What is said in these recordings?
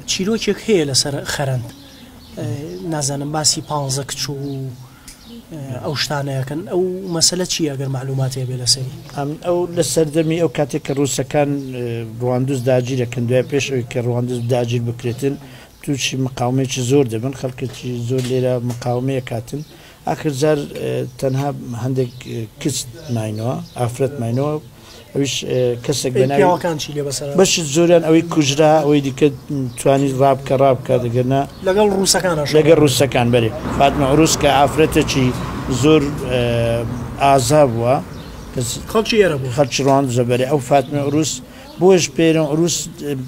چیرۆکێک هەیە لەسەر خەرەند نازانم باسی پانزە کچ و ئەو شتانە ئەکەن ئەو مەسەلە چییە ئەگەر مەعلوماتێ بێ لەسەری؟ ئەو لە سەردەمی ئەو کاتێک کە ڕووسەکان ڕواندز داگیر ئەکەن دوای پێش ئەوەی کە ڕواندز داگیر بکرێتن تووشی مقاومەیەکی زۆر دەبن خەڵکێکی زۆر لێرە مقاومەیە کاتن ئاخر جار تەنها هەندێک کچ ماینەوە ئافرەت ماینەوە ئەویش کەسێک بە ناوی پیاوەکان چی لێ بەسەر هات؟ بەشی زۆریان ئەوەی کوژرا ئەوەی دیکە توانی ڕابکە ڕابکات ئەگەر نا لەگەڵ ڕووسەکانا شەڕ لەگەڵ ڕووسەکان بەرێ فاتمە عروس کە ئافرەتێکی زۆر ئازا بووە کەس خەڵکی ئێرە بووە خەڵکی ڕواندزە بەرێ ئەو فاتمە عروس بۆیەش پێرن عروس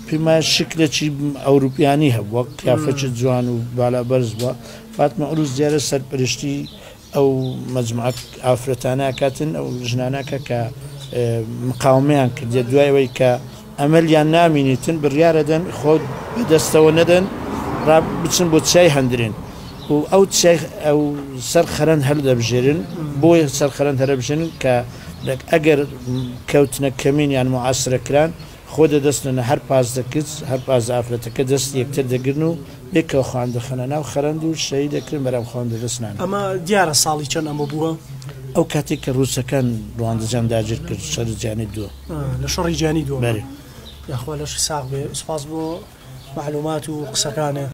پێم وایە شکلێکی ئەوروپیانی هەبووە قیافەکی جوان و بالا بەرز بووە فاتمە عروس دیارە سەرپەرشتی ئەو مەجموعە ئافرەتانە ئەکاتن ئەو ژنانە ئەکا کە مقاومەیان کردیە دوای ئەوەی کە ئەمەلیان نامینیتن بڕیارەدەن خۆ بەدەستەوە نەدەن ڕا بچن بۆ چیای هەندرێن و ئەو چیای ئەو سەر خەرەند هەلدەبژێرن بۆیە سەر خەرەند هەرەبژێنن کە ئەگەر کەوتنە کەمین یان معاسرە کران خۆ دەدەستنە هەر 15 کچ هەر 15 ئافرەتەکە دەستی یەکتر دەگرن و پێکەوە خۆیان دەخەنە ناو خەرەند و شەهید دەکرێن بەرام خۆیان دەدەست نانن. ئەمە دیارە ساڵی چەند ئەمە بووە؟ ئەو کاتەی کە ڕووسەکان ڕواندزیان داگیر کرد شەڕی جیهانی دووەم. لە شەڕی جیهانی دووەم. بەرێ. یاخوا لەشی ساغ بێ سوپاس بۆ مەعلومات و قسەکانێ.